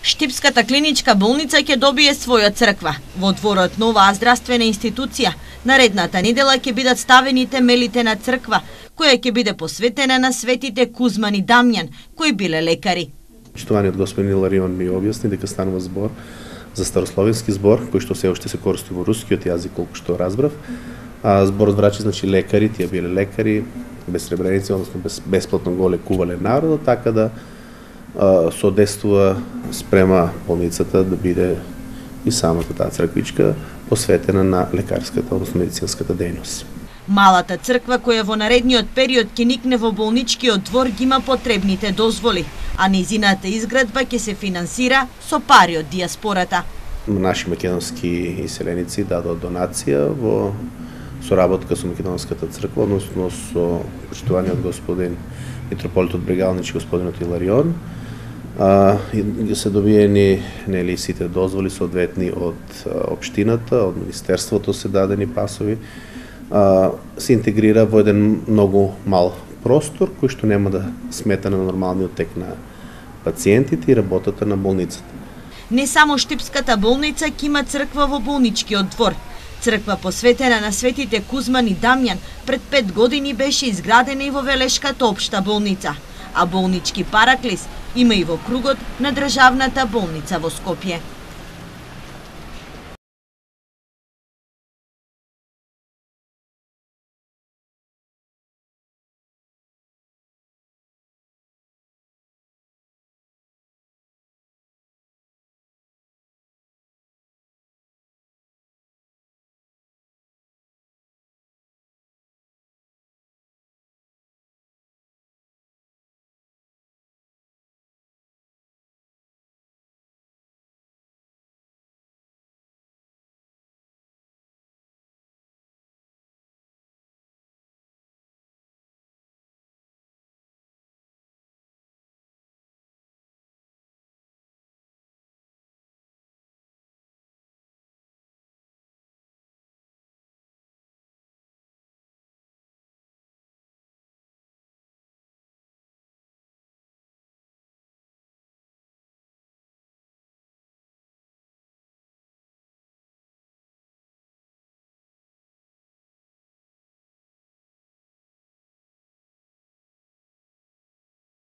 Штипската клиничка болница ќе добие своја црква. Во дворот новаа здравствена институција, наредната недела ќе бидат ставени темелите на црква, која ќе биде посветена на светите Кузман и Дамјан, кои биле лекари. Почитуваниот господин Иларион ми објасни дека станува збор за старословенски збор, кој што се уште се користи во рускиот јазик, колку што разбрав. Зборот врачи, значи лекари, тие биле лекари, без сребреници, односно бесплатно го лекувале народот, така да содействува спрема болницата да биде и самата таа црквичка посветена на лекарската, односно медицинската дејност. Малата црква која во наредниот период ќе никне во болничкиот двор ги има потребните дозволи, а незината изградба ќе се финансира со пари од дијаспората. Наши македонски иселеници дадоа донација во соработка со македонската црква, односно со почитуваниот господин митрополитот Брегалнич и господинот Иларион. Се добиени нели сите дозволи соодветни од општината, од министерството се дадени пасови. Се интегрира во еден многу мал простор кој што нема да смета на нормалниот тек на пациентите и работата на болницата. Не само Штипската болница ќе има црква во болничкиот двор. Црква посветена на светите Кузман и Дамјан пред 5 години беше изградена и во Велешката општа болница, а болнички параклис има и во кругот на државната болница во Скопје.